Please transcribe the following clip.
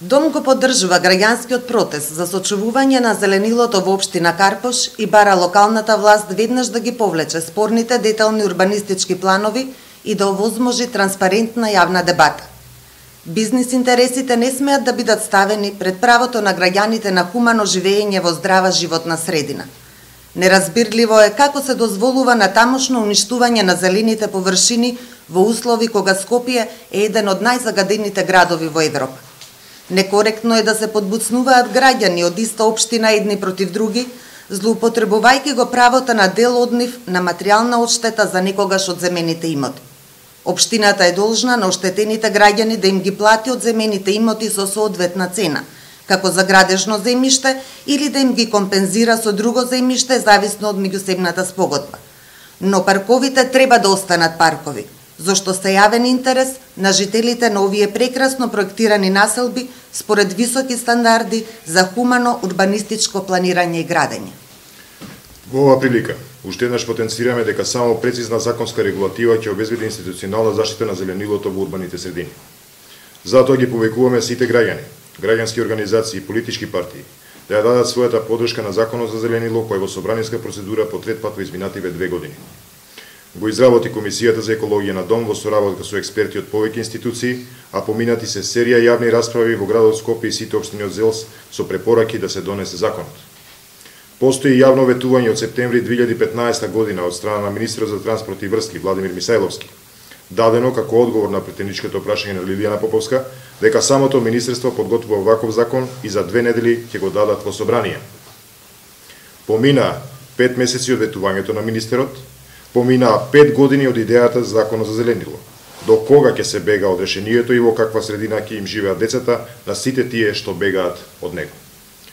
Дом го поддржува граѓанскиот протест за сочувување на зеленилото во општина Карпош и бара локалната власт веднаш да ги повлече спорните детални урбанистички планови и да овозможи транспарентна јавна дебата. Бизнис интересите не смеат да бидат ставени пред правото на граѓаните на хумано живење во здрава животна средина. Неразбирливо е како се дозволува натамошно уништување на зелените површини во услови кога Скопје е еден од најзагадените градови во Европа. Некоректно е да се подбуцнуваат граѓани од иста општина едни против други, злоупотребувајќи го правото на дел од нив на материјална одштета за некогаш одземените имоти. Општината е должна на оштетените граѓани да им ги плати одземените имоти со соодветна цена, како за градежно земјиште или да им ги компензира со друго земјиште зависно од меѓусебната спогодба. Но парковите треба да останат паркови, зашто се јавен интерес на жителите на овие прекрасно проектирани населби според високи стандарди за хумано урбанистичко планирање и градење. Во оваа прилика, уште еднаш потенцираме дека само прецизна законска регулатива ќе обезбеди институционална заштита на зеленилото во урбаните средини. Затоа ги повикуваме сите граѓани, граѓански организации и политички партии да ја дадат својата поддршка на Законот за зеленило кој во собраниска процедура по трет пат во изминативе 2 години. Го изработи Комисијата за екологија на Дом во соработка со експерти од повеќе институции, а поминати се серија јавни расправи во градот Скопје и сите општини од ЗЕЛС со препораки да се донесе законот. Постои јавно ветување од септември 2015 година од страна на министерот за транспорт и врски Владимир Мисајловски, дадено како одговор на претеничкото прашање на Лилијана Поповска, дека самото министерство подготвува ваков закон и за 2 недели ќе го дадат во собрание. Помина 5 месеци од ветувањето на министерот, поминаа 5 години од идејата за законот за зеленило. До кога ќе се бега од решението и во каква средина ќе им живеат децата на сите тие што бегаат од него?